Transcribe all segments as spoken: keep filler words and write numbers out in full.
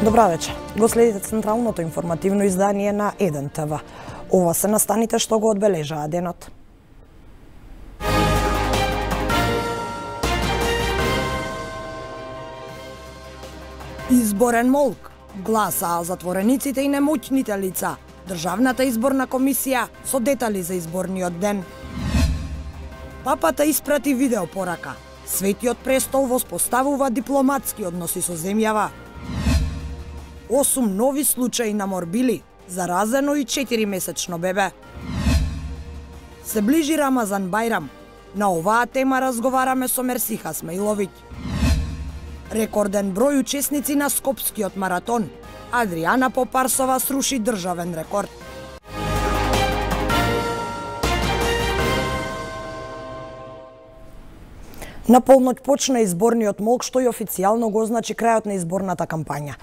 Добра вечер. Го следите централното информативно издание на еден те ве. Ова се настаните што го одбележаа денот. Изборен молк. Гласаа затворениците и немоќните лица. Државната изборна комисија со детали за изборниот ден. Папата испрати видеопорака. Светиот престол воспоставува дипломатски односи со земјава. Осум нови случаи на морбили, заразено и четиримесечно бебе. Се ближи Рамазан Бајрам. На оваа тема разговараме со Мерсиха Смаиловиќ. Рекорден број учесници на Скопскиот маратон. Адријана Попарсова сруши државен рекорд. На полноќ почна изборниот молк, што и официјално го означи крајот на изборната кампања.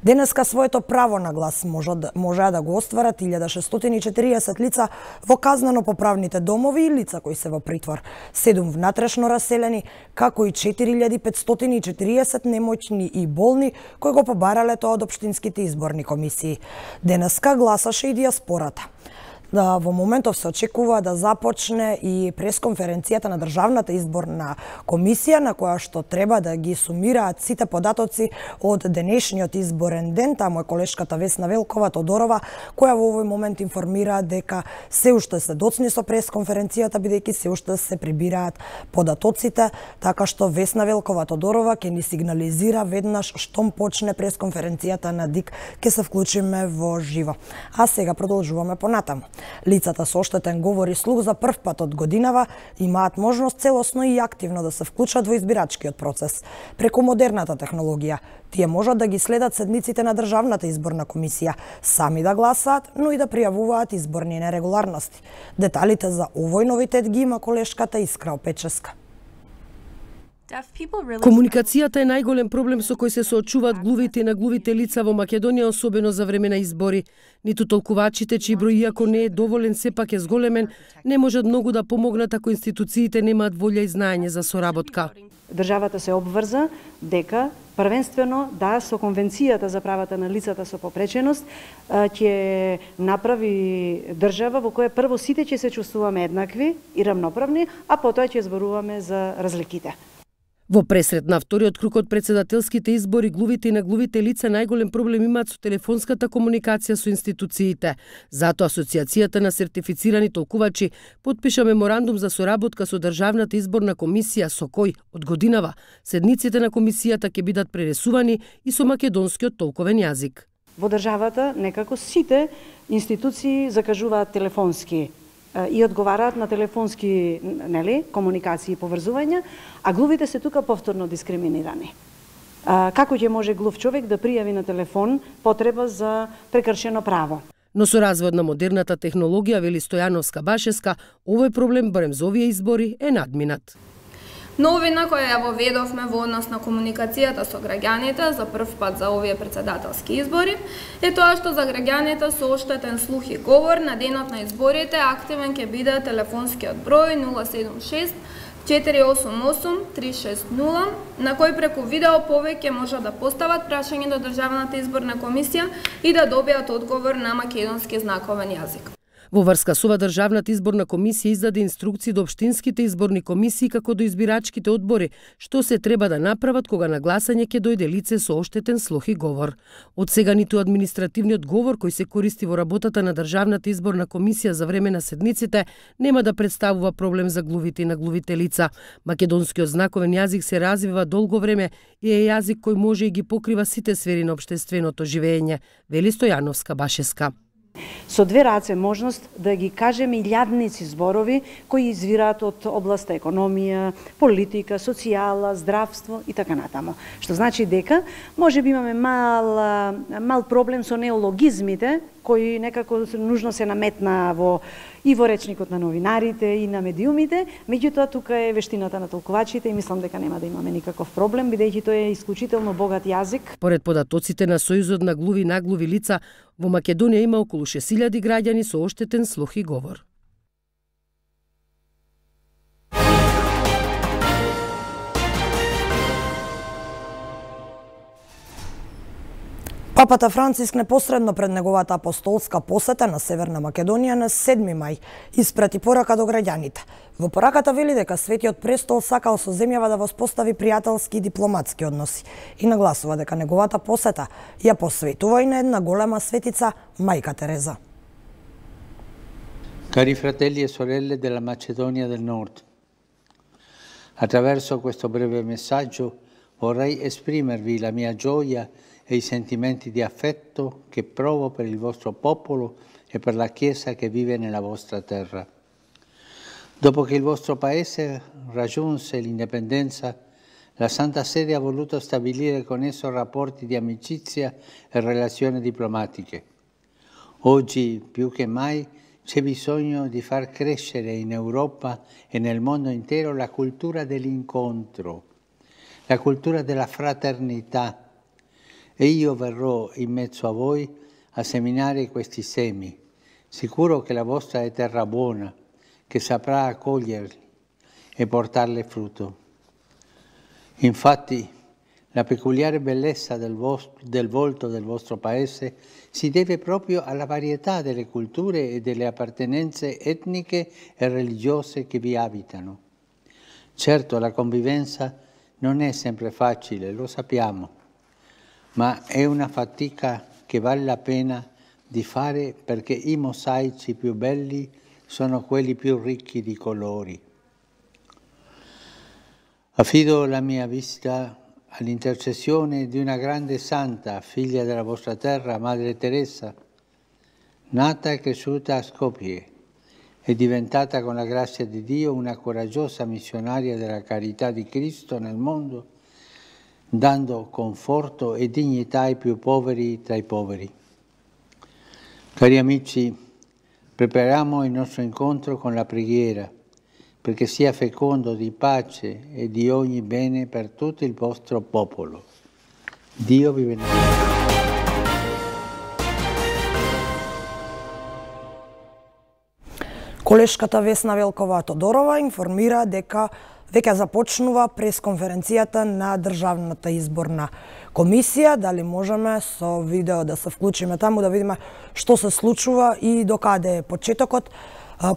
Денеска своето право на глас можеа да го остварат илјада шестстотини и четириесет лица во казнено-поправните домови и лица кои се во притвор, седум внатрешно раселени, како и четири илјади петстотини и четириесет немоќни и болни кои го побарале тоа од општинските изборни комисии. Денеска гласаше и дијаспората. Да, во моментов се очекува да започне и пресконференцијата на Државната изборна комисија, на која што треба да ги сумираат сите податоци од денешниот изборен ден. Таму е колешката Весна Велкова Тодорова, која во овој момент информира дека се уште се доцни со пресконференцијата, бидејќи се уште се прибираат податоците, така што Весна Велкова Тодорова ќе ни сигнализира веднаш штом почне пресконференцијата на ДИК, ќе се вклучиме во живо. А сега продолжуваме понатаму. Лицата со оштетен говор и слух за прв пат од годинава имаат можност целосно и активно да се вклучат во избирачкиот процес. Преку модерната технологија, тие можат да ги следат седниците на Државната изборна комисија, сами да гласаат, но и да пријавуваат изборни нерегуларности. Деталите за овој новитет ги има колешката Искра Опеческа. Комуникацијата е најголем проблем со кој се соочуваат глувите и наглувите лица во Македонија, особено за време на избори. Ниту толкувачите, чиј број иако не е доволен, сепак е зголемен, не можат многу да помогнат ако институциите немаат волја и знаење за соработка. Државата се обврза дека првенствено да со конвенцијата за правата на лицата со попреченост ќе направи држава во која прво сите ќе се чувствуваме еднакви и рамноправни, а потоа ќе зборуваме за разликите. Во пресред на вториот круг од председателските избори, глувите и наглувите лица најголем проблем имаат со телефонската комуникација со институциите. Затоа Асоциацијата на сертифицирани толкувачи потпиша меморандум за соработка со Државната изборна комисија, со кој од годинава седниците на комисијата ќе бидат пренесувани и со македонскиот толковен јазик. Во државата некако сите институции закажуваат телефонски и одговараат на телефонски, нели, комуникации и поврзувања, а глувите се тука повторно дискриминирани. Како ќе може глув човек да пријави на телефон потреба за прекршено право? Но со развојот на модерната технологија, вели Стојановска Башеска, овој проблем барем за овие избори е надминат. Новина која ја воведовме во однос на комуникацијата со граѓаните за прв пат за овие председателски избори е тоа што за граѓаните со оштетен слух и говор на денот на изборите активен ќе биде телефонскиот број нула седум шест четири осум осум три шест нула, на кој преку видео повеќе може да постават прашање до Државната изборна комисија и да добијат одговор на македонски знаковен јазик. Во врска со ова Државната изборна комисија издаде инструкции до општинските изборни комисии како до избирачките одбори, што се треба да направат кога на гласање ќе дојде лице со оштетен слух и говор. Од сега ниту административниот говор кој се користи во работата на Државната изборна комисија за време на седниците нема да представува проблем за глувите и наглувите лица. Македонскиот знаковен јазик се развива долго време и е јазик кој може и ги покрива сите сфери на општественото живење, вели Стојановска Башеска. Со две раце можност да ги кажеме илјадници зборови кои извираат од областа економија, политика, социјала, здравство и така натаму. Што значи дека може би имаме мал, мал проблем со неологизмите кои некако нужно се наметна во и во речникот на новинарите и на медиумите, меѓутоа тука е вештината на толкувачите и мислам дека нема да имаме никаков проблем, бидејќи тој е исклучително богат јазик. Поред податоците на Сојузот на глуви и наглуви лица, во Македонија има околу шест илјади граѓани со оштетен слух и говор. Папата Франциск непосредно пред неговата апостолска посета на Северна Македонија на седми мај испрати порака до граѓаните. Во пораката вели дека Светиот престол сакал со земјава да воспостави пријателски и дипломатски односи и нагласува дека неговата посета ја посветува и на една голема светица, Мајка Тереза. Cari fratelli e sorelle della Macedonia del Nord, attraverso questo breve messaggio vorrei esprimervi la mia gioia e i sentimenti di affetto che provo per il vostro popolo e per la Chiesa che vive nella vostra terra. Dopo che il vostro Paese raggiunse l'indipendenza, la Santa Sede ha voluto stabilire con esso rapporti di amicizia e relazioni diplomatiche. Oggi, più che mai, c'è bisogno di far crescere in Europa e nel mondo intero la cultura dell'incontro, la cultura della fraternità. E io verrò in mezzo a voi a seminare questi semi, sicuro che la vostra è terra buona, che saprà accoglierli e portarle frutto. Infatti, la peculiare bellezza del, vostro, del volto del vostro Paese si deve proprio alla varietà delle culture e delle appartenenze etniche e religiose che vi abitano. Certo, la convivenza non è sempre facile, lo sappiamo, ma è una fatica che vale la pena di fare perché i mosaici più belli sono quelli più ricchi di colori. Affido la mia visita all'intercessione di una grande santa, figlia della vostra terra, Madre Teresa, nata e cresciuta a Skopje, è diventata con la grazia di Dio una coraggiosa missionaria della carità di Cristo nel mondo, dando conforto e dignità ai più poveri tra i poveri. Cari amici, prepariamo il nostro incontro con la preghiera, perché sia fecondo di pace e di ogni bene per tutto il vostro popolo. Dio vi benedica. Колешката Весна Велкова-Тодорова информира дека веќе започнува пресконференцијата на Државната изборна комисија. Дали можеме со видео да се вклучиме таму да видиме што се случува и докаде е почетокот.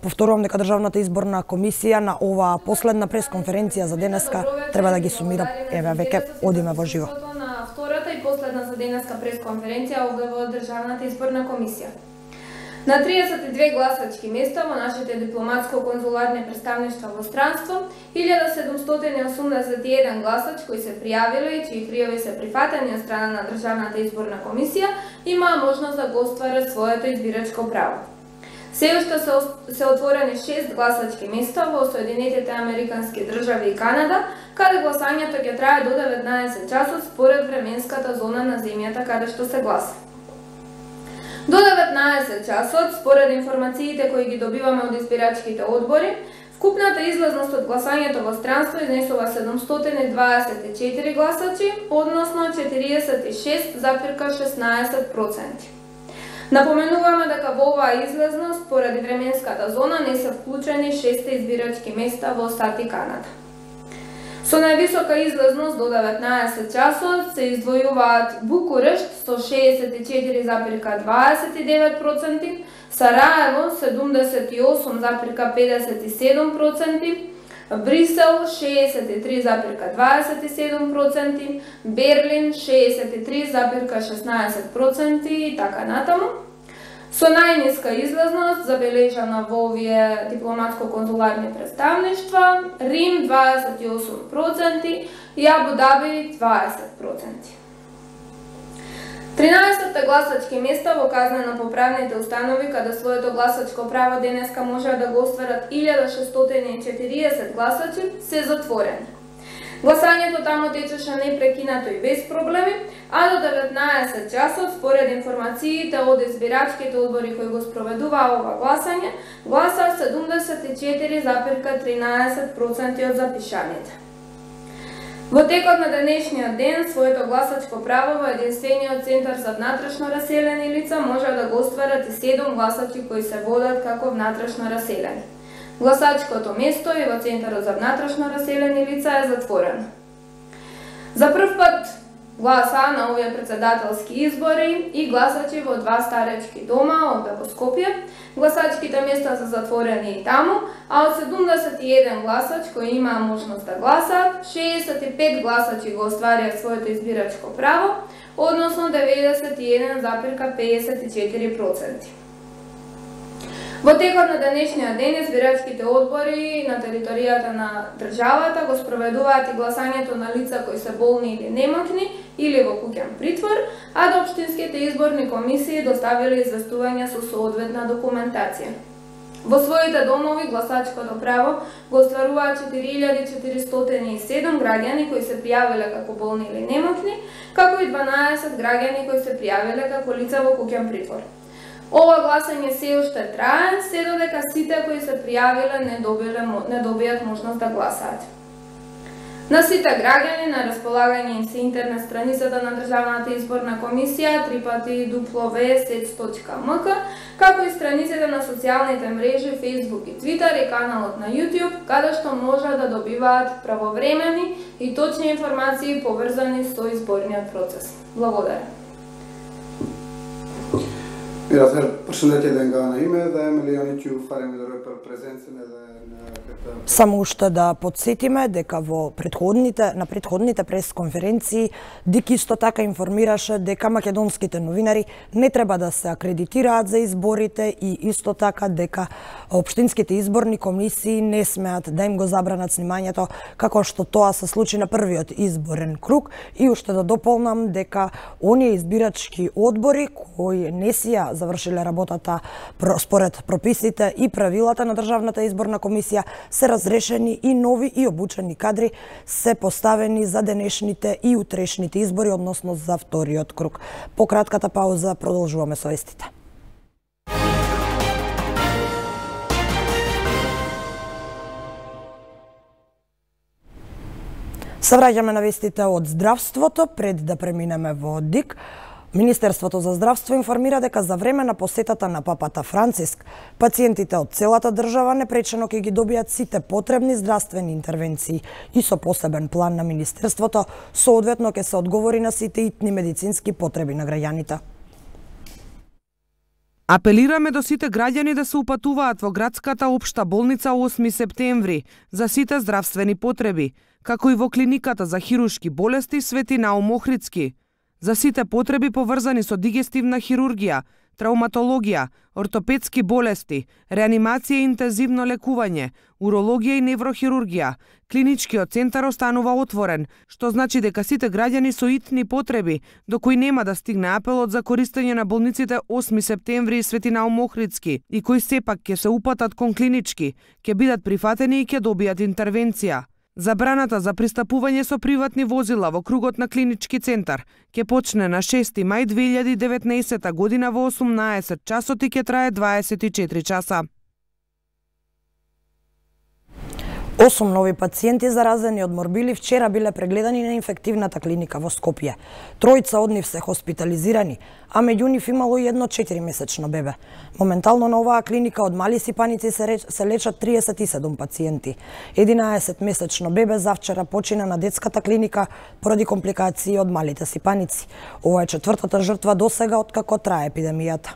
Повторувам дека Државната изборна комисија на оваа последна пресконференција за денеска треба да ги сумира. Еве веќе одиме во живо. На втората и последна за денеска пресконференција објавува Државната изборна комисија. На триесет и две гласачки места во нашите дипломатско-конзуларни представништва во странство, илјада седумстотини и осумдесет и еден гласач кои се пријавиле и чии пријави се прифатени од страна на Државната изборна комисија, имаа можност да го остварат своето избирачко право. Се уште се, се отворени шест гласачки места во Соединетите Американски држави и Канада, каде гласањето ќе трае до деветнаесет часот според временската зона на земјата каде што се гласа. До деветнаесет часот, според информациите кои ги добиваме од избирачките одбори, вкупната излазност од гласањето во странство изнесува седумстотини и дваесет и четири гласачи, односно четириесет и шест запирка шеснаесет проценти. Напоменуваме дека во оваа излазност, поради временската зона, не се вклучени шест избирачки места во САД и Канада. Со највисока излазност до деветнаесет часот се издвојуваат Букурешт со шеесет и четири запирка дваесет и девет проценти, Сараево седумдесет и осум запирка педесет и седум проценти, Брисел шеесет и три запирка дваесет и седум проценти, Берлин шеесет и три запирка шеснаесет проценти и така натаму. Со најниска излазност, забележана во овие дипломатско-конзуларни представништва, Рим дваесет и осум проценти и Абу Даби дваесет проценти. тринаесет гласачки места во казнено-поправните установи, каде своето гласачко право денеска може да го остварат илјада шестстотини и четириесет гласачи, се затворени. Гласањето таму течеше непрекинато и без проблеми, а до деветнаесет часот, според информациите од избирачките одбори кои го спроведуваа ова гласање, гласа седумдесет и четири запирка тринаесет проценти од запишаните. Во текот на денешниот ден, своето гласачко право во единствениот центар за внатрешно раселени лица може да го остварат и седум гласачи кои се водат како внатрешно раселени. Гласачкото место и во Центарот за внатрешно раселени лица е затворено. За прв пат гласа на овие председателски избори и гласачи во два старечки дома овде во Скопје. Гласачките места се затворени и таму, а од седумдесет и еден гласач кои имаа можност да гласаат, шеесет и пет гласачи го остварија своето избирачко право, односно деветдесет и еден запирка педесет и четири проценти. Во текот на денешниот ден избирачките одбори на територијата на државата го спроведуваат и гласањето на лица кои се болни или немокни или во куќен притвор, а до општинските изборни комисии доставиле известување со соодветна документација. Во своите домови гласачкото право го остваруваат четири илјади четиристотини и седум граѓани кои се пријавиле како болни или немокни, како и дванаесет граѓани кои се пријавиле како лица во куќен притвор. Ова гласање се уште трае, се додека сите кои се пријавиле не добиле не добијат можност да гласаат. На сите граѓани на располагање им се интернет страницата на Државната изборна комисија три пати дупло ве сец точка ем ка, како и страниците на социјалните мрежи Facebook и Twitter и каналот на YouTube, каде што може да добиваат правовремени и точни информации поврзани со изборниот процес. Благодарам. Mira, përshëndetje dhe nga në ime dhe me lejoni që ju falenderoj për prezencën edhe në këtë... Само уште да подсетиме дека во предходните на предходните пресконференции ДИК исто така информираше дека македонските новинари не треба да се акредитираат за изборите и исто така дека општинските изборни комисии не смеат да им го забранат снимањето како што тоа се случи на првиот изборен круг. И уште да дополнам дека оние избирачки одбори кои не си ја завршиле работата според прописите и правилата на Државната изборна комисија се разрешени и нови и обучени кадри се поставени за денешните и утрешните избори, односно за вториот круг. По кратката пауза продолжуваме со вестите. Се враќаме на вестите од здравството пред да преминеме во ДИК. Министерството за здравство информира дека за време на посетата на папата Франциск, пациентите од целата држава непречено ќе ги добијат сите потребни здравствени интервенции и со посебен план на Министерството соодветно ќе се одговори на сите итни медицински потреби на граѓаните. Апелираме до сите граѓани да се упатуваат во градската општа болница осми септември за сите здравствени потреби, како и во клиниката за хируршки болести Свети Наум Охридски, за сите потреби поврзани со дигестивна хирургија, травматологија, ортопедски болести, реанимација и интензивно лекување, урологија и неврохирургија. Клиничкиот центар останува отворен, што значи дека сите граѓани со итни потреби, до кои нема да стигне апелот за користење на болниците осми септември и Свети Наум Охридски и кои сепак ќе се упатат кон клинички, ќе бидат прифатени и ќе добијат интервенција. Забраната за пристапување со приватни возила во кругот на клинички центар ќе почне на шести мај две илјади и деветнаесетта година во осумнаесет часот и ќе трае дваесет и четири часа. Осум нови пациенти заразени од морбили вчера биле прегледани на инфективната клиника во Скопје. Тројца од нив се хоспитализирани, а меѓу нив имало и едно четиримесечно бебе. Моментално на оваа клиника од мали сипаници се, реч, се лечат триесет и седум пациенти. единаесетмесечно бебе завчера почина на детската клиника поради компликации од малите сипаници. Ова е четвртата жртва досега откако трае епидемијата.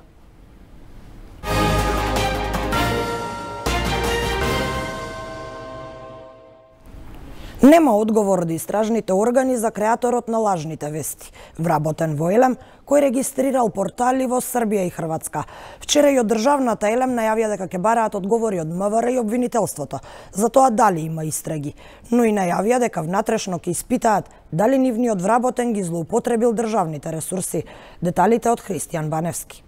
Нема одговор од истражните органи за креаторот на лажните вести, вработен во Елем, кој регистрирал портали во Србија и Хрватска. Вчера и од државната Елем најавија дека ќе бараат одговори од МВР и обвинителството за тоа дали има истраги, но и најавија дека внатрешно ќе испитаат дали нивниот вработен ги злоупотребил државните ресурси. Деталите од Христијан Баневски.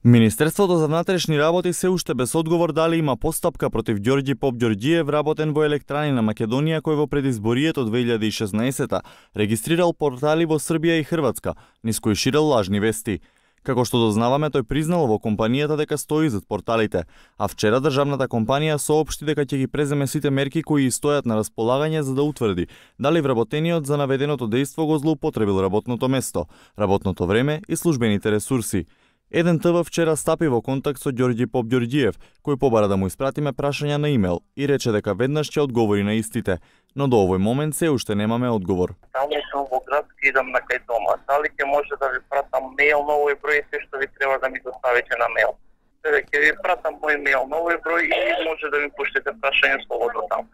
Министерството за внатрешни работи се уште без одговор дали има постапка против Ѓорѓи Попѓорѓиев, вработен во Електрани на Македонија, кој во предизборието две илјади и шеснаесетта регистрирал портали во Србија и Хрватска, низ кои ширел лажни вести. Како што дознаваме, тој признал во компанијата дека стои зад порталите, а вчера државната компанија соопшти дека ќе ги преземе сите мерки кои стојат на располагање за да утврди дали вработениот за наведеното дејство го злоупотребил работното место, работното време и службените ресурси. Еден Т В вчера стапи во контакт со Ѓорѓи Попѓорѓиев, кој побара да му испратиме прашања на имејл и рече дека веднаш ќе одговори на истите, но до овој момент се уште немаме одговор. Само сум во градски, идам на кај дома. Дали ќе може да ви пратам мејл на овој број и се што ви треба да ми доставите на мејл? Сега ќе ви пратам мој мејл на овој број и може да ми пуштите прашање слободно таму.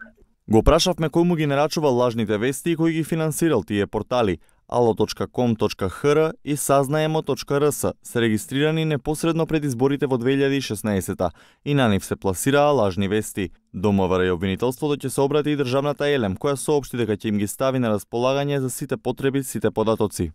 Го прашавме кој му ги нарачувал лажните вести и кој ги финансирал тие портали. ало точка ком точка х р и сазнаемо точка р с се регистрирани непосредно пред изборите во две илјади и шеснаесета и на нив се пласираа лажни вести. До МВР и обвинителството ќе се обрати и државната Елем, која соопшти дека ќе им ги стави на располагање за сите потреби, сите податоци.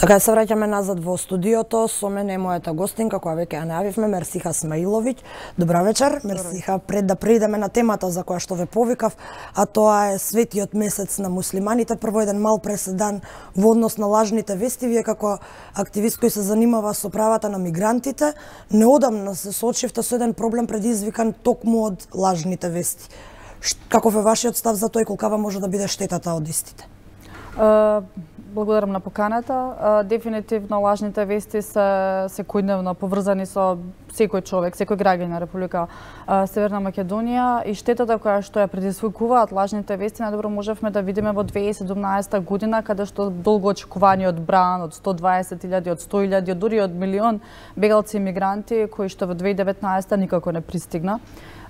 Така се враќаме назад во студиото, со мене е мојата гостинка, која веќе ја најавивме, Мерсиха Смаиловиќ. Добра вечер, Мерсиха. Пред да преидеме на темата за која што ве повикав, а тоа е светиот месец на муслиманите, прво еден мал преседан во однос на лажните вести. Вие како активист кој се занимава со правата на мигрантите, неодамна се соочивте со еден проблем предизвикан токму од лажните вести. Каков е вашиот став за тоа и колкава може да биде штетата од истите? Благодарам на поканата. Дефинитивно лажните вести се секојдневно поврзани со секој човек, секој граѓанин на Република Северна Македонија и штетата која што ја предизвикуваат лажните вести најдобро можевме да видиме во две илјади и седумнаесета година, каде што долго очекуваниот бран од сто дваесет илјади, од сто илјади, дури од милион бегалци и мигранти кои што во две илјади и деветнаесета никако не пристигна.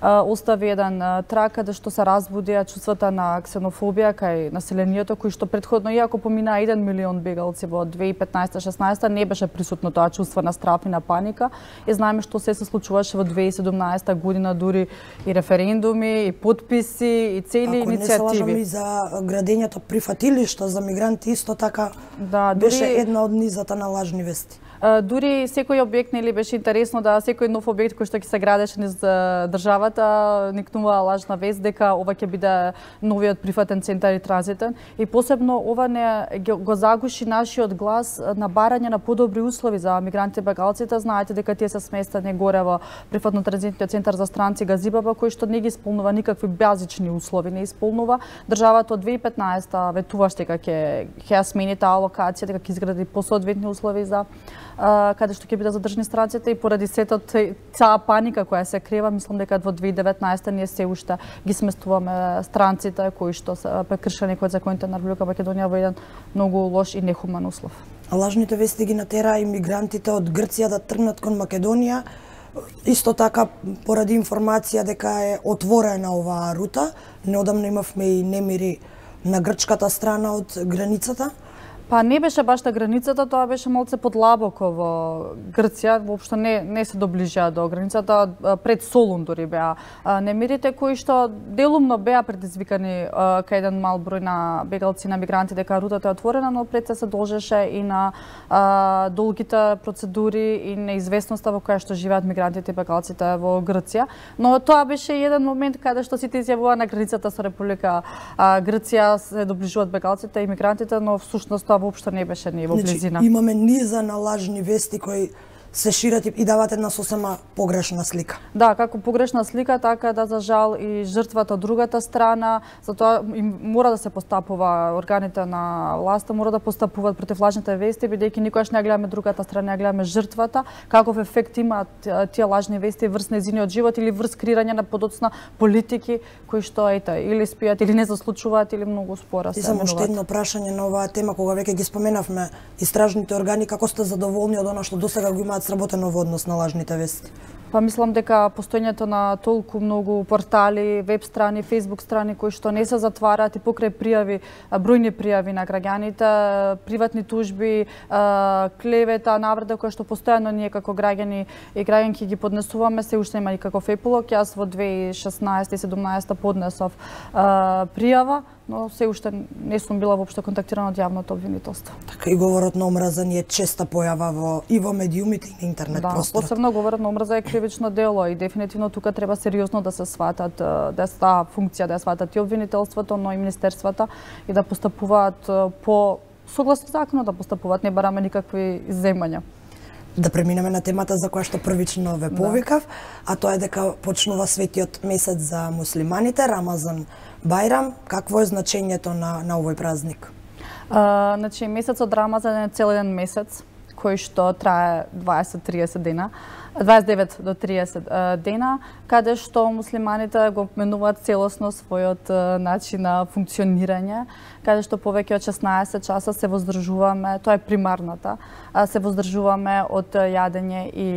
Остави еден трак каде што се разбудија чувствата на ксенофобија кај населението, кои што претходно, иако помина еден милион бегалци во две илјади и петнаесета шеснаесета, не беше присутно тоа чувство на страв и на паника. И знаеме што се се случуваше во две илјади и седумнаесета година, дури и референдуми, и подписи, и цели Ако иницијативи. Ако не се лажам и за градењето прифатилишта за мигранти, исто така да, беше дури... една од низата на лажни вести. Дури секој објект, нели, беше интересно да секој нов објект кој што ќе се градеше низ државата никнува лажна вест дека ова ќе биде новиот прифатен центар и транзитен, и посебно ова не го загуши нашиот глас на барање на подобри услови за мигрантите и бегалците. Знаете дека тие се сместени горе во прифатно транзитниот центар за странци Газибаба, кој што не ги исполнува никакви базични услови, не исполнува. Државата од две илјади и петнаесета ветуваше дека ќе ќе смени таа локација, дека ќе изгради посоодветни услови за каде што ќе биде задржани странците, и поради сето цаа паника која се крева, мислам дека во две илјади и деветнаесета ние се уште ги сместуваме странците кои што се прекршени кој законите на Република Македонија во еден многу лош и нехуман услов. Лажните вести ги натераа имигрантите од Грција да тргнат кон Македонија. Исто така, поради информација дека е отворена оваа рута, неодамна имавме и немири на грчката страна од границата. Па не беше баш на границата, тоа беше малце подлабоко во Грција, воопшто не не се доближаа до границата, пред Солун дури беа немирите кои што делумно беа предизвикани кај еден мал број на бегалци, на мигранти, дека рутата е отворена, но пред се се должеше и на а, долгите процедури и неизвестноста во која што живеат мигрантите и бегалците во Грција. Но тоа беше еден момент каде што сите изјавува на границата со Република а, Грција се доближуваат бегалците и мигрантите, но всушност тоа воопшто не беше ни во близина. Значи, имаме низа на лажни вести кои се шират и дават една сосема погрешна слика. Да, како погрешна слика, така да за жал и жртвата од другата страна, затоа им мора да се постапува, органите на власта мора да постапуваат против лажните вести, бидејќи никогаш не гледаме другата страна, не гледаме жртвата, каков ефект имаат тие лажни вести врз нејзиниот живот или врз креирање на подоцна политики кои што ете или спијат или не заслучуваат или многу спора се. И само уште едно прашање на оваа тема, кога веќе ги споменавме истражните органи, како сте задоволни од она што досега го имаат сработено во однос на лажните вести? Па мислам дека постоењето на толку многу портали, веб страни, фейсбук страни кои што не се затвараат и покрај пријави, бројни пријави на граѓаните, приватни тужби, клевета, навреда кои што постојано ние како граѓани и граѓанки ги поднесуваме, се уште има никаков епилог. Јас во две илјади и шеснаесета и седумнаесета поднесов пријава, но се уште не сум била воопшто контактирана од јавното обвинителство. Така и говорот на омраза ни е честа појава во и во медиумите и на интернет да, просторот. Посебно говорот на омраза е кривично дело и дефинитивно тука треба сериозно да се сватат, да таа функција да ја сватат и обвинителството, но и министерствата и да постапуваат по согласно законот, да постапуваат, не бараме никакви изземања. Да преминеме на темата за која што првично ве повикав, а тоа е дека почнува светиот месец за муслиманите, Рамазан Бајрам. Какво е значењето на, на овој празник? А, значи, месецот Рамазан е цел еден месец, кој што трае дваесет до триесет дена. дваесет и девет до триесет дена, каде што муслиманите го менуваат целосно својот начин на функционирање, каде што повеќе од шеснаесет часа се воздржуваме, тоа е примарната, се воздржуваме од јадење и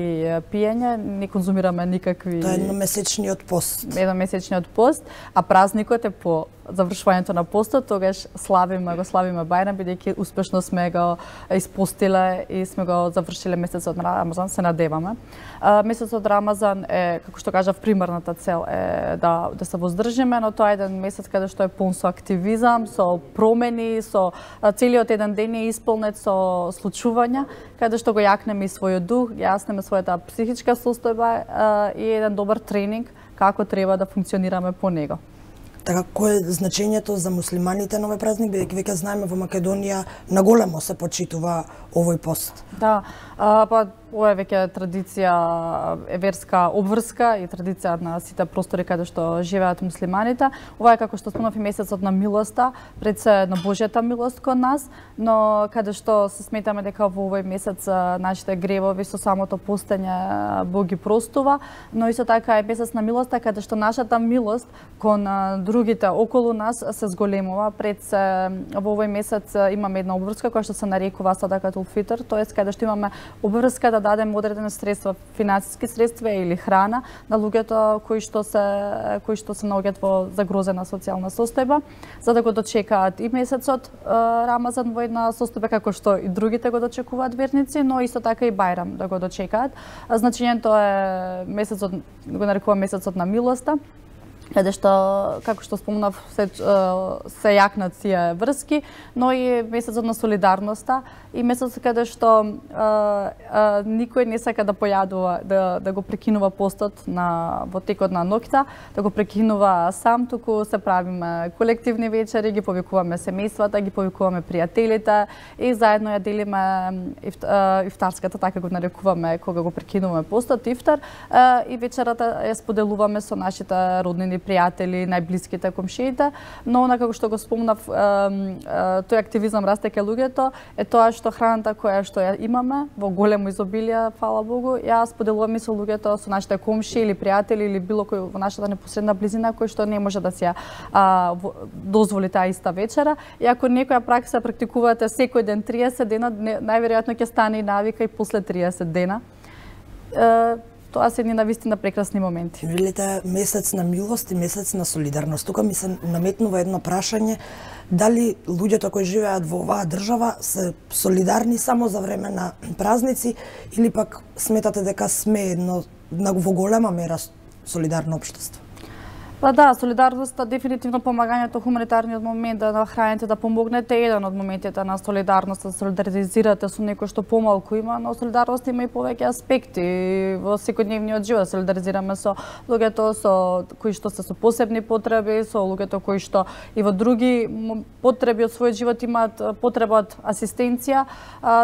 пиење, не конзумираме никакви... Тоа е едномесечниот пост. Едномесечниот пост, а празникот е по завршувањето на постот, тогаш славиме, го славиме Бајрам, бидејќи успешно сме го испостиле и сме го завршиле месецот на Рамазан, се надеваме. Месецот Рамазан е, како што кажав, примарната цел е да, да се воздржиме, но тоа е еден месец каде што е полн со активизам, со промени, со целиот еден ден е исполнет со случувања, каде што го јакнеме и својот дух, јаснеме својата психичка состојба и еден добар тренинг како треба да функционираме по него. Така, кој е значењето за муслиманите на овој празник, бидејќи веќе знаеме во Македонија наголемо се почитува овој пост? Да, а, па ова е веќе традиција, е верска обврска и традиција на сите простори каде што живеат муслиманите. Ова е, како што спомнав, и месецот на милоста, пред се на Божјата милост кон нас, но каде што се сметаме дека во овој месец нашите гревови со самото постење Бог ги простува, но исто така е месец на милоста каде што нашата милост кон другите околу нас се зголемува. Пред се во овој месец имаме една обврска која што се нарекува Садакатул Фитр, тоест каде што имаме обврска да дадеме одредени средства, финансиски средства или храна на луѓето кои што се кои што се наоѓаат во загрозена социјална состојба, за да го дочекаат и месецот Рамазан во една состојба како што и другите го дочекуваат верници, но исто така и Бајрам да го дочекаат. Значењето е месецот, го нарекува месецот на милоста, каде што, како што спомнав, се, се јакнат тие врски, но и месецот на солидарноста и месецот каде што а, а, никој не сака да појадува, да, да го прекинува постот на, во текот на ноќта, да го прекинува сам, туку се правиме колективни вечери, ги повикуваме семејствата, ги повикуваме пријателите и заедно ја делиме ифт, а, ифтарската, така го нарекуваме кога го прекинуваме постот, ифтар, а, и вечерата ја споделуваме со нашите роднини, пријатели, најблиските, комшиите, но она како што го спомнав, тој активизам расте кај луѓето, е тоа што храната која што ја имаме во големо изобилие, фала Богу, ја споделуваме со луѓето, со нашите комши или пријатели или било кој во нашата непосредна близина кој што не може да се а, дозволи таа иста вечера. И ако некоја пракса практикувате секој ден триесет дена, најверојатно ќе стане и навика и после триесет дена. Тоа се едни навистина прекрасни моменти. Велите месец на милост и месец на солидарност. Тука ми се наметнува едно прашање, дали луѓето кои живеат во оваа држава се солидарни само за време на празници или пак сметате дека сме едно во голема мера солидарно општество? Па да, солидарноста, дефинитивно помагањето, хуманитарниот момент да нахраните, да помогнете, еден од моментите на солидарност, да солидаризирате со некој што помалку има, но солидарност има и повеќе аспекти во секојдневниот живот, да солидаризираме со луѓето со кои што се со посебни потреби, со луѓето кои што и во други потреби од својот живот имаат потреба од асистенција.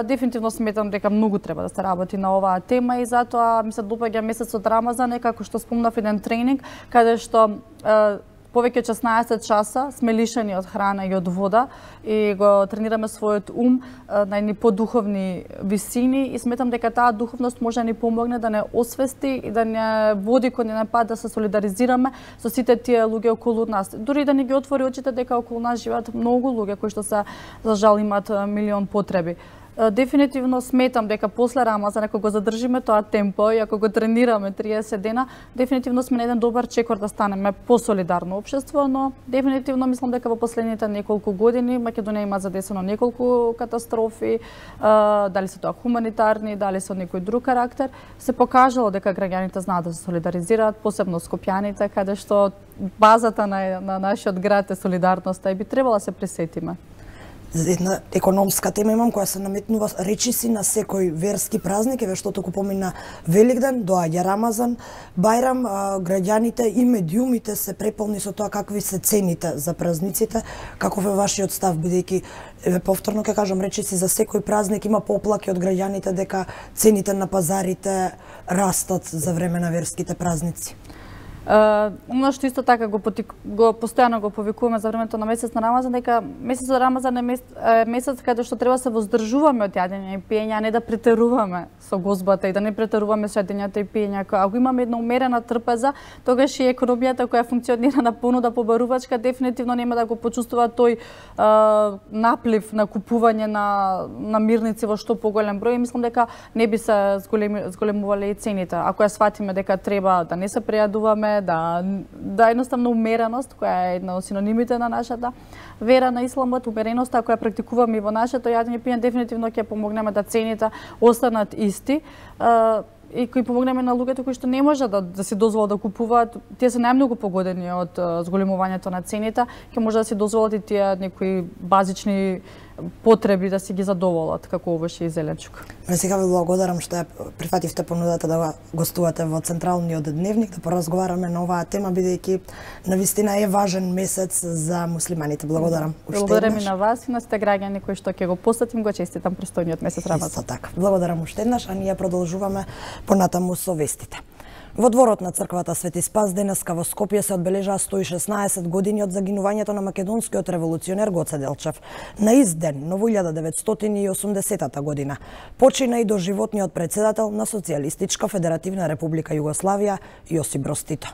Дефинитивно сметам дека многу треба да се работи на оваа тема и затоа ми се допаѓа месецот Рамазан, како што спомнав, еден тренинг каде што повеќе од шеснаесет часа сме лишени од храна и од вода и го тренираме својот ум на едни подуховни висини и сметам дека таа духовност може да ни помогне да не освести и да не води кон еден пат да се солидаризираме со сите тие луѓе околу нас. Дури да ни ги отвори очите дека околу нас живеат многу луѓе кои што се, за жал, имаат милион потреби. Дефинитивно сметам дека после Рамазан, ако го задржиме тоа темпо и ако го тренираме триесет дена, дефинитивно сме на еден добар чекор да станеме посолидарно општество, но дефинитивно мислам дека во последните неколку години Македонија има задесено неколку катастрофи, дали се тоа хуманитарни, дали се од некој друг карактер, се покажало дека граѓаните знаат да се солидаризираат, посебно скопјаните, каде што базата на, на нашиот град е солидарноста и би требало да се пресетиме. Една економска тема имам која се наметнува речиси на секој верски празник, еве што току помина Великден, доаѓа Рамазан, Бајрам, граѓаните и медиумите се преполни со тоа какви се цените за празниците. Каков е вашиот став, бидејќи еве повторно ќе кажам, речиси за секој празник има поплаки од граѓаните дека цените на пазарите растат за време на верските празници? Оно што исто така го, потик, го постојано го повикуваме за времето на месец на Рамазан, дека месецот Рамазан е месец, месец каде што треба да се воздржуваме од јадење и пиење, а не да претеруваме со гозбата и да не претеруваме со јадењето и пиењето. Ако имаме една умерена трпеза, тогаш и економијата која функционира на понуда побарувачка дефинитивно нема да го почувствува тој а, наплив на купување на намирници во што поголем број и мислам дека не би се зголеми, зголемувале и цените. Ако ја сватиме дека треба да не се прејадуваме, да да едноставно умереност која е една од синонимите на нашата вера на исламот, умереноста која практикуваме и во нашето јадење пиење дефинитивно ќе помогнеме да цените останат исти и кои помогнеме на луѓето кои што не можат да, да си дозволат да купуваат. Тие се најмногу погодени од зголемувањето на цените, ќе може да си дозволат и тие некои базични потреби да си ги задоволат, како овош и зеленчук. Ме сега ви благодарам што ја прифативте понудата да гостувате во Централниот дневник, да поразговараме на оваа тема, бидејќи навистина е важен месец за муслиманите. Благодарам. Благодарам и на вас и на сите граѓани кои што ќе го посетим, го честитам престојниот месец Рамазан. Исто така. Благодарам уште еднаш, а ние продолжуваме понатаму со вестите. Во дворот на црквата Свети Спас денеска во Скопје се одбележаа сто и шеснаесет години од загинувањето на македонскиот револуционер Гоце Делчев. На ист ден, но во илјада деветстотини и осумдесетата година, почина и доживотниот претседател на Социјалистичка Федеративна Република Југославија Јосип Броз Тито.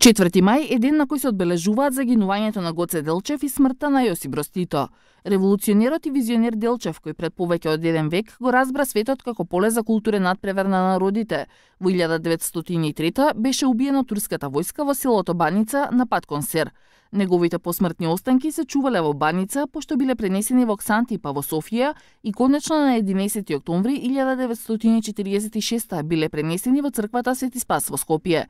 четврти мај е ден на кој се одбележуваат загинувањето на Гоце Делчев и смртта на Јосип Броз Тито. Револуционерот и визионер Делчев, кој пред повеќе од еден век го разбра светот како поле за културен надпревар на народите, во илјада деветстотини и трета беше убиен од турската војска во селото Баница на пат кон Сер. Неговите посмртни останки се чувале во Баница, пошто биле пренесени во Ксанти па во Софија и конечно на единесети октомври илјада деветстотини и четиридесет и шеста биле пренесени во црквата Свети Спас во Скопје.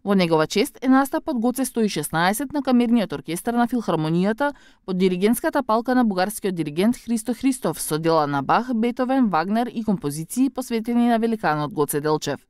Во негова чест е настапот Гоце сто и шеснаесет на камерниот оркестар на Филхармонијата под диригентската палка на бугарскиот диригент Христо Христов со дела на Бах, Бетовен, Вагнер и композиции посветени на великанот Гоце Делчев.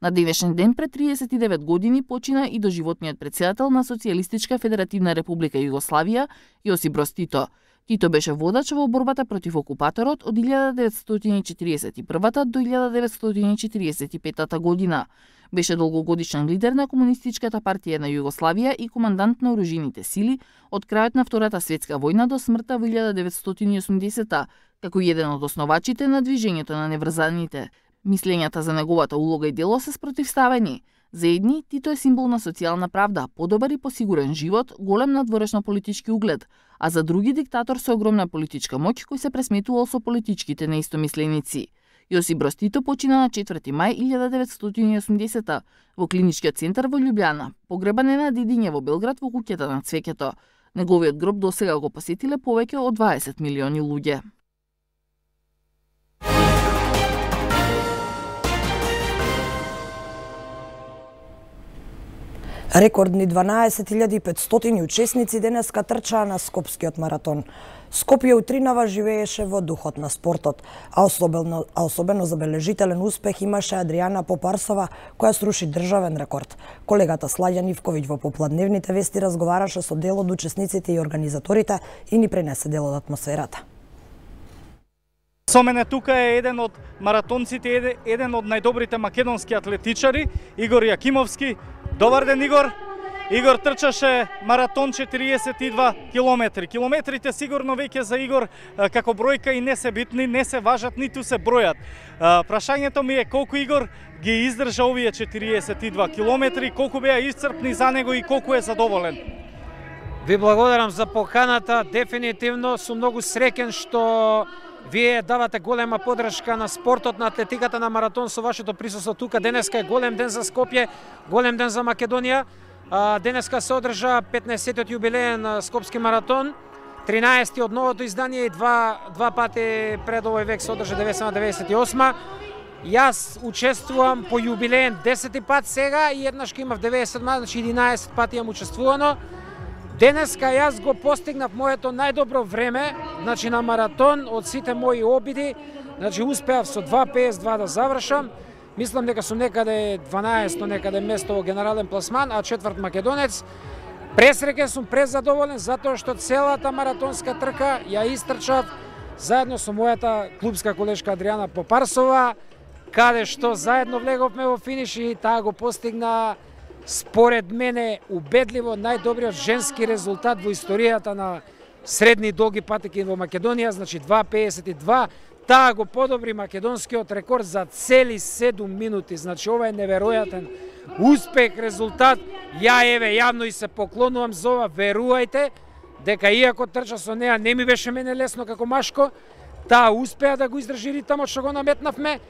На денешен ден пред триесет и девет години почина и доживотниот претседател на Социјалистичка Федеративна Република Југославија Јосип Броз Тито. Тито беше водач во борбата против окупаторот од илјада деветстотини и четиридесет и прва до илјада деветстотини и четиридесет и петата година. Беше долгогодишен лидер на Комунистичката партија на Југославија и командант на оружјените сили од крајот на Втората светска војна до смртта во илјада деветстотини и осумдесета, како еден од основачите на движењето на неврзаните. Мислењата за неговата улога и дело се спротивставени. За едни, Тито е символ на социјална правда, подобар и посигурен живот, голем надворешно политички углед, а за други диктатор со огромна политичка моќ кој се пресметувал со политичките неистомисленици. Јосип Броз Тито почина на четврти мај илјада деветстотини и осумдесета во клиничкиот центар во Љубљана. Погребан е на Дидиње во Белград во куќата на Цвеќето. Неговиот гроб досега го посетиле повеќе од дваесет милиони луѓе. Рекордни дванаесет илјади и петстотини учесници денеска трчаа на Скопскиот маратон. Скопје утринава живееше во духот на спортот, а особено, а особено забележителен успех имаше Адријана Попарсова, која сруши државен рекорд. Колегата Слаѓан Ивковиќ во попладневните вести разговараше со дел од учесниците и организаторите и ни пренесе дел од атмосферата. Со мене тука е еден од маратонците, еден од најдобрите македонски атлетичари, Игор Јакимовски. Добар ден, Игор. Игор трчаше маратон четириесет и два километри. Километрите сигурно веќе за Игор како бројка и не се битни, не се важат, ниту се бројат. Прашањето ми е колку Игор ги издржа овие четириесет и два километри, колку беа исцрпни за него и колку е задоволен. Ви благодарам за поканата. Дефинитивно сум многу среќен што вие давате голема подршка на спортот, на атлетиката, на маратон со вашето присуство тука. Денеска е голем ден за Скопје, голем ден за Македонија. Денеска се одржа петнаесеттиот јубилеен на Скопски маратон, тринаесети од новото издание и два, два пати пред овој век се одржа деветстотини деветдесет и осма. Јас учествувам по јубилеен десети пат сега и еднаш имав деветдесет и седма, значи единаесет пати имам учествувано. Денеска јас го постигнав моето најдобро време, значи на маратон од сите мои обиди, значи успеав со два песет два да завршам. Мислам дека сум некаде дванаесто некаде место во генерален пласман, а четврт македонец. Пресреќен сум, презадоволен затоа што целата маратонска трка ја истрчав заедно со мојата клубска колешка Адријана Попарсова каде што заедно влеговме во финиш и таа го постигна според мене убедливо најдобриот женски резултат во историјата на средни и долги патеки во Македонија, значи два педесет и два. Таа го подобри македонскиот рекорд за цели седум минути. Значи ова е неверојатен успех, резултат. Ја еве јавно и се поклонувам за ова, верувајте дека иако трча со неа не ми беше мене лесно како машко, таа успеа да го издржи ритмот што го наметнавме.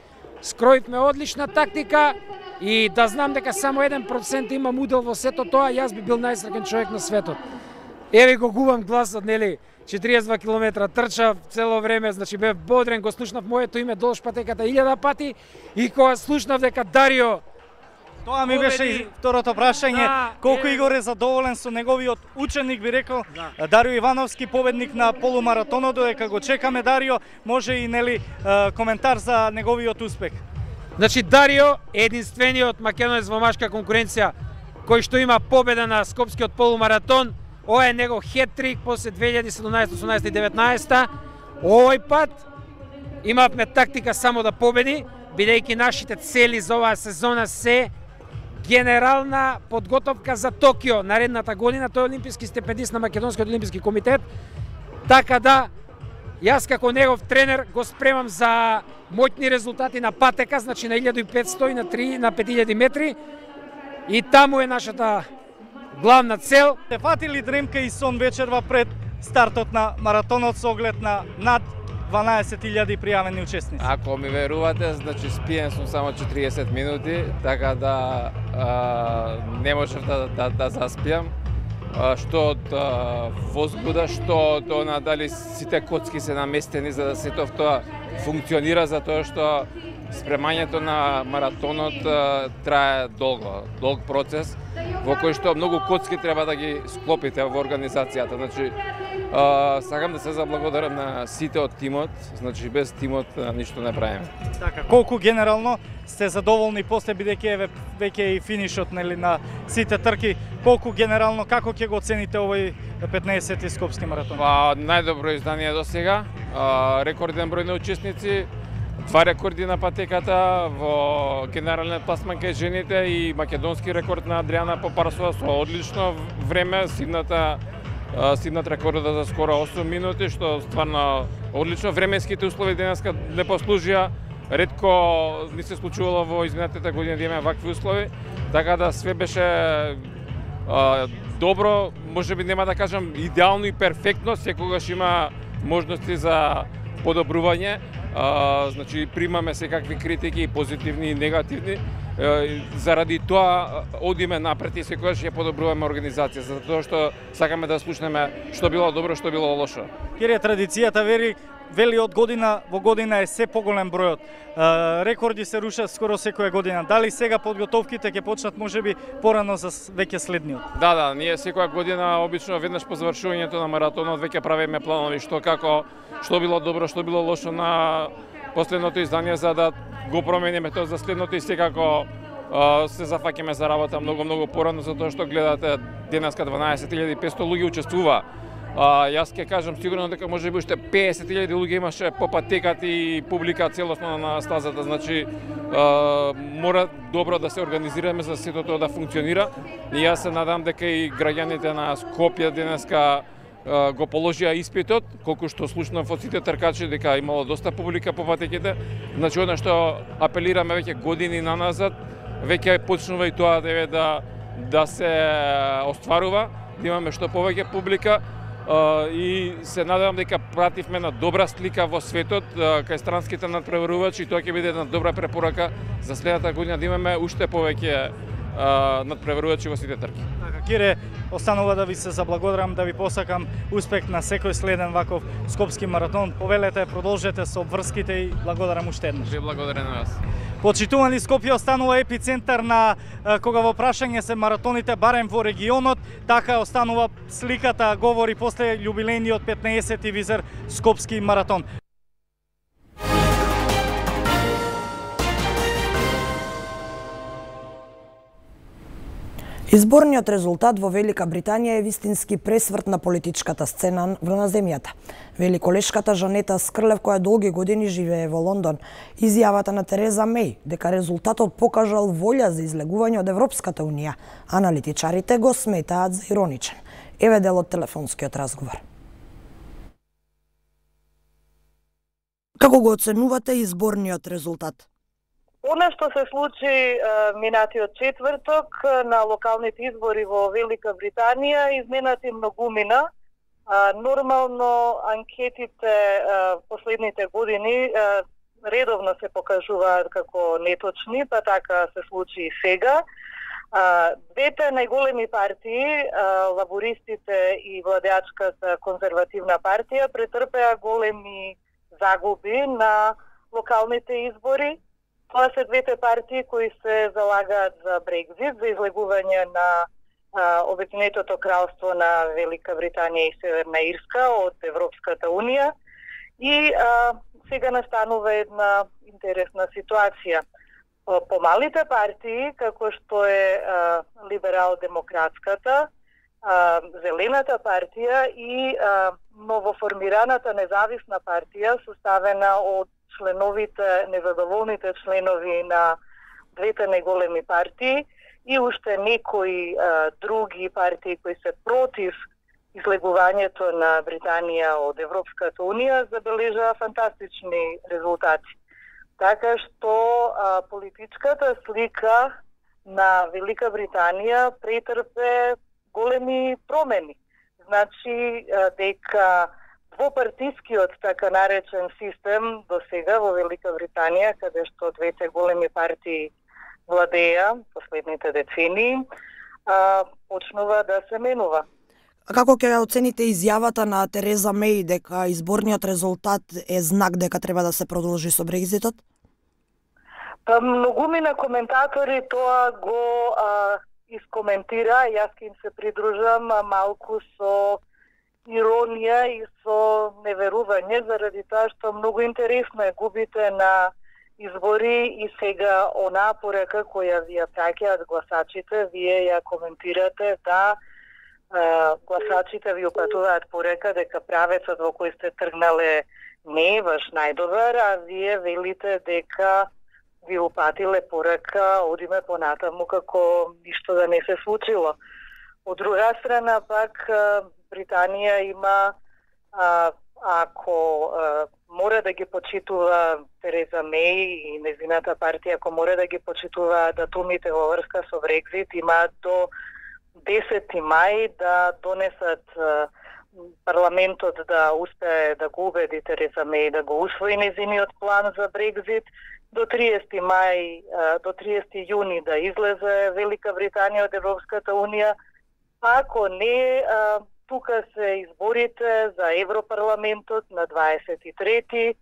Скроивме одлична тактика и да знам дека само еден процент имам удел во сето тоа, јас би бил најсреќен човек на светот. Еве го губам гласот, нели? четириесет и два километра трчав цело време, значи бев бодрен, го слушнав моето име долж патеката илјада пати и кога слушнав дека Дарио Тоа ми беше и второто прашање, да, колку е... Игор е задоволен со неговиот ученик, би рекол, да. Дарио Ивановски, победник на полумаратонот, додека го чекаме Дарио, може и нели коментар за неговиот успех. Значи Дарио е единствениот македонец во машка конкуренција кој што има победа на скопскиот полумаратон. Ова е него хет-трик после две илјади и седумнаесета, осумнаесета и деветнаесета. Овој пат имавме тактика само да победи, бидејќи нашите цели за оваа сезона се генерална подготовка за Токио наредната година. Тој е олимписки стипендист на Македонскиот олимписки комитет. Така да, јас како негов тренер го спремам за моќни резултати на патека, значи на илјада и петстотини и на три на пет илјади метри. И таму е нашата главна цел. Те фати ли дремка и сон вечерва пред стартот на маратонот со оглед на над дванаесет илјади пријавени учесници? Ако ми верувате, значи спиен сум само четириесет минути, така да а, не можев да, да, да заспиам. А, што од а, возбуда, што од она дали сите коцки се наместени за да сетов тоа функционира, затоа што спремањето на маратонот а, трае долго, долг процес во кој што многу коцки треба да ги склопите во организацијата. Значи, а, сакам да се заблагодарам на сите од тимот, значи без тимот а, ништо не правиме. Така, колку генерално сте задоволни после бидејќи е веќе и финишот нели на сите трки, колку генерално како ќе го оцените овој петнаесети скопски маратон? Па најдобро издание до сега, а, рекорден број на учесници, два рекорди на патеката во генерален пласман кај жените и македонски рекорд на Адријана Попарсова со одлично време, сигната сигнат рекордот за скоро осум минути, што стварно одлично. Временските услови денеска не послужија, ретко не се случувало во изминатите години да имаме вакви услови, така да све беше а, добро, можеби нема да кажам идеално и перфектно, секогаш има можности за подобрување. А, значи примаме секакви критики, позитивни и негативни. А, заради тоа одиме напред и секогаш ја подобруваме организација, затоа што сакаме да слушнеме што било добро, што било лошо. Кире, традицијата вери вели од година во година е се поголем бројот. А, рекорди се рушат скоро секоја година. Дали сега подготовките ќе почнат можеби порано за веќе следниот? Да, да, ние секоја година обично веднаш по завршувањето на маратонот веќе правиме планови што како што било добро, што било лошо на последното издание за да го промениме тоа за следното и секако а, се зафаќаме за работа многу многу порано затоа што гледате денеска дванаесет илјади и петстотини луѓе учествува. А, јас ќе кажам сигурно дека можеби уште песет илјади луѓе имаше по патеката и публика целосно на стазата, значи а, мора добро да се организираме за сето тоа да функционира. И јас се надам дека и граѓаните на Скопје денеска а, го положија испитот, колку што слушнав од сите тркачи дека имало доста публика по патеките. Значи она што апелираме веќе години наназад, веќе почнува и тоа да да се остварува, да имаме што повеќе публика. Uh, и се надевам дека пративме на добра слика во светот uh, кај странските надпреварувачи и тоа ќе биде една добра препорака за следната година да имаме уште повеќе uh, надпреварувачи во сите трки. Така, Кире, останува да ви се заблагодарам, да ви посакам успех на секој следен ваков скопски маратон. Повелете, продолжете со обврските и благодарам уште еднаш. Ви благодарам на вас. Почитувани, Скопје останува епицентар на кога во прашање се маратоните барем во регионот, така останува сликата говори после јубилејниот петнаесети визер скопски маратон. Изборниот резултат во Велика Британија е вистински пресврт на политичката сцена на земјата. Великолешката Жанета Скрлев, која долги години живее во Лондон, изјавата на Тереза Меј дека резултатот покажал волја за излегување од Европската унија, аналитичарите го сметаат за ироничен. Еве дел од телефонскиот разговор. Како го оценувате изборниот резултат? Она што се случи минатиот четврток на локалните избори во Велика Британија изненади многумина. Нормално анкетите последните години редовно се покажуваат како неточни, па така се случи и сега. Двете најголеми партии, лабористите и владеачката конзервативна партија, претрпеа големи загуби на локалните избори. Тоа се двете партии кои се залагаат за Брекзит, за излегување на Обединетото кралство на Велика Британија и Северна Ирска од Европската унија. И а, сега настанува една интересна ситуација. Помалите партии, како што е а, либерал-демократската, а, Зелената партија и а, новоформираната независна партија, составена од членовите, незадоволните членови на двете најголеми партии и уште некои а, други партии кои се против излегувањето на Британија од Европската унија, забележаа фантастични резултати. Така што а, политичката слика на Велика Британија претрпе големи промени. Значи а, дека двопартискиот така наречен систем до сега во Велика Британија, каде што двете големи партии владеа последните децении, а, почнува да се менува. А како ќе оцените изјавата на Тереза Меј дека изборниот резултат е знак дека треба да се продолжи со Брекзитот? Па многумина коментатори тоа го а, искоментира, јас ќе им се придружам а, малку со иронија и со неверување, заради тоа што многу интересно е, губите на избори и сега онаа порека која ви ја праќаат гласачите, вие ја коментирате да е, гласачите ви упатуваат порека дека правецот во кој сте тргнале не е ваш најдобар, а вие велите дека ви упатиле порека одиме понатаму како ништо да не се случило. Од друга страна пак Британија има, а, ако а, мора да ги почитува Тереза Меј и незината партија, ако мора да ги почитува датумите во врска со Брекзит, има до десети мај да донесат а, парламентот да успее да го убеди Тереза Меј да го усвои незиниот план за Брекзит, до триесети мај, а, до триесети јуни да излезе Велика Британија од Европската унија. Ако не, а, тука се изборите за Европарламентот на дваесет и трети.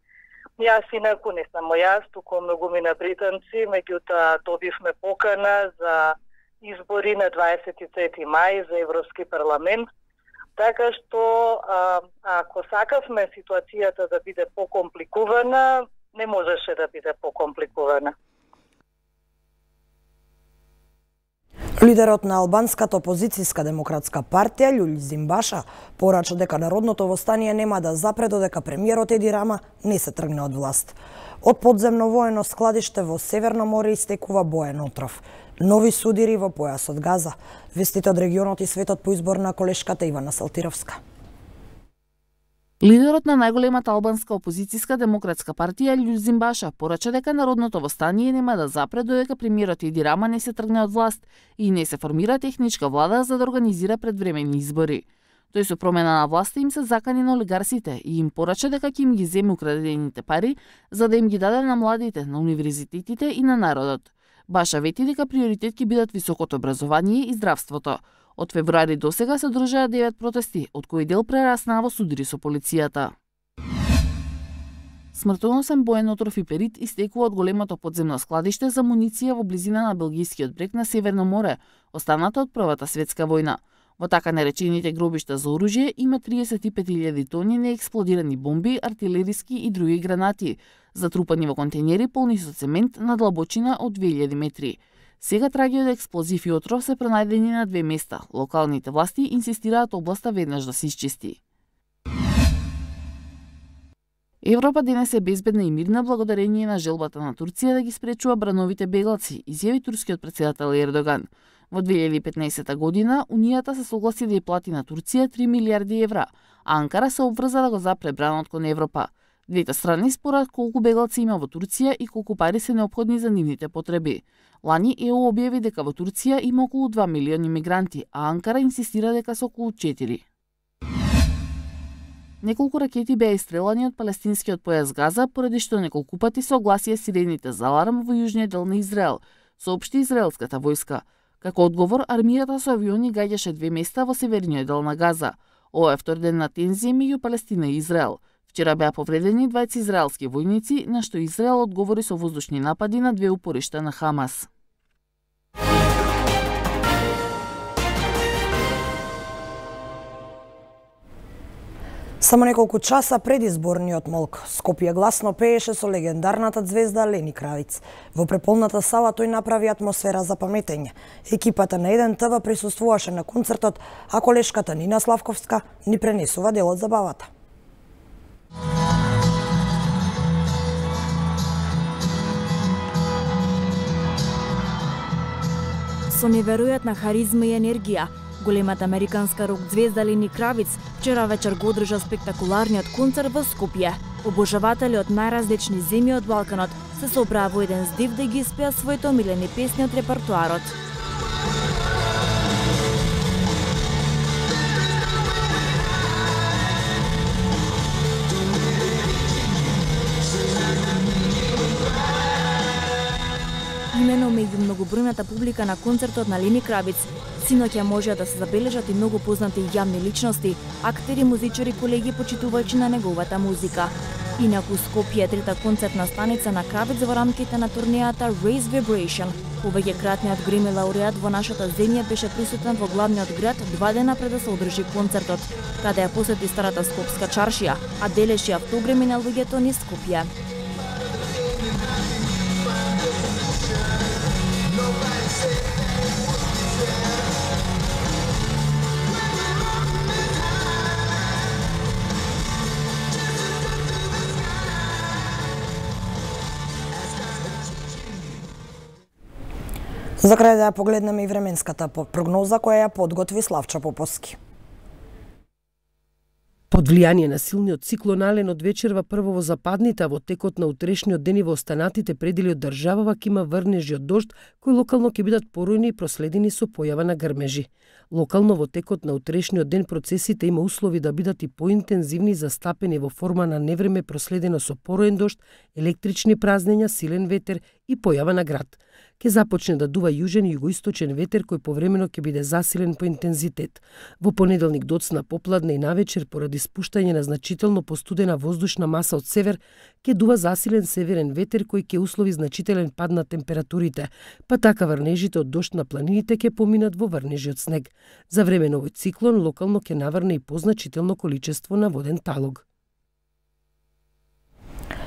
Јас инаку не само јас, туку многумина британци, меѓутоа добивме покана за избори на дваесет и трети мај за Европски парламент. Така што а, ако сакавме ситуацијата да биде покомпликувана, не можеше да биде покомпликувана. Лидерот на албанската опозицијска демократска партија Љулјзим Баша порача дека народното востание нема да запре додека премиерот Еди Рама не се тргне од власт. Од подземно воено складиште во Северно море истекува боен отров. Нови судири во појасот Газа. Вестите од регионот и светот по избор на колешката Ивана Салтировска. Лидерот на најголемата албанска опозицијска демократска партија Љулјзим Баша порача дека народното востание нема да запре додека премиерот Еди Рама не се тргне од власт и не се формира техничка влада за да организира предвременни избори. Тој со промена на власта им се закани на олигарсите и им порача дека ќе им ги земе украдените пари за да им ги даде на младите, на универзитетите и на народот. Баша вети дека приоритет ќе бидат високото образование и здравството. Од февруари до сега се одржаа девет протести, од кои дел прераснаа во судири со полицијата. Смртоносен боен отров и перит истекува од големото подземно складиште за муниција во близина на Белгискиот брег на Северно море, останата од Првата светска војна. Во така наречените гробишта за оружје има триесет и пет илјади тони неексплодирани бомби, артилериски и други гранати, затрупани во контејнери полни со цемент на длабочина од две илјади метри. Сега траги од експлозив и отров се пронајдени на две места. Локалните власти инсистираат областа веднаш да се исчисти. Европа денес е безбедна и мирна благодарение на желбата на Турција да ги спречува брановите бегалци, изјави турскиот председател Ердоган. Во две илјади и петнаесета година, Унијата се согласи да ја плати на Турција три милијарди евра, а Анкара се обврза да го запре бранот кон Европа. Двете страни спорат колку бегалци има во Турција и колку пари се неопходни за нивните потреби. Лани ЕУ објави дека во Турција има околу два милиони мигранти, а Анкара инсистира дека се околу четири. Неколку ракети беа истрелани од палестинскиот појас Газа, поради што неколку пати се огласија сирените за аларм во јужниот дел на Израел, соопшти израелската војска. Како одговор, армијата со авиони гаѓаше две места во северниот дел на Газа. Ова е втор ден на тензија меѓу Палестина и Израел. Вчера беа повредени двајца израелски војници, на што Израел одговори со воздушни напади на две упоришта на Хамас. Само неколку часа пред изборниот молк, Скопје гласно пееше со легендарната звезда Лени Кравиц. Во преполната сала тој направи атмосфера за паметење. Екипата на еден ТВ присуствуваше на концертот, а колешката Нина Славковска ни пренесува дел од забавата. Со неверојатна харизма и енергија, големата американска рок звезда Лени Кравиц вчера вечер го одржа спектакуларниот концерт во Скопје. Обожаватели од најразлични земји од Балканот се собраа во еден здив да ги испеа своите омилени песни од репертоарот. Имено меѓу многобројната публика на концертот на Лени Кравиц, синоќа можеа да се забележат и многу познати јавни личности, актери, музичари, колеги, почитувачи на неговата музика. Инаку Скопје е трета концертна станица на Кравиц во рамките на турнејата Raise Vibration. Повеќекратниот Греми лауреат во нашата земја беше присутен во главниот град два дена пред да се одржи концертот, каде ја посети старата скопска чаршија, а делеше автограми на луѓето низ Скопје. За крај да ја погледнеме и временската прогноза која ја подготви Славчо Поповски. Под влијание на силниот циклон Ален од вечерва прво во западните, а во текот на утрешниот ден и во останатите предели од државава ќе има врнежи од дожд, кои локално ќе бидат поројни и проследени со појава на грмежи. Локално во текот на утрешниот ден процесите има услови да бидат и поинтензивни, застапени во форма на невреме проследено со пороен дожд, електрични празнења, силен ветер и појава на град. Ке започне да дува јужен и југоисточен ветер кој повремено ќе биде засилен по интензитет. Во понеделник доцна попладне и навечер поради спуштање на значително постудена воздушна маса од север, ќе дува засилен северен ветер кој ќе услови значителен пад на температурите, па така врнежите од дожд на планините ќе поминат во врнежи од снег. За време на овој циклон локално ќе наврне и позначително количество на воден талог.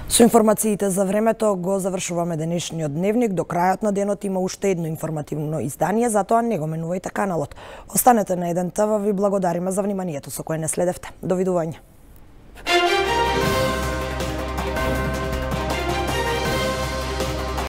Со информациите за времето го завршуваме денешниот дневник. До крајот на денот има уште едно информативно издание, затоа не го менувајте каналот. Останете на еден ТВ, ви благодариме за вниманието со кое не следевте. Довидување.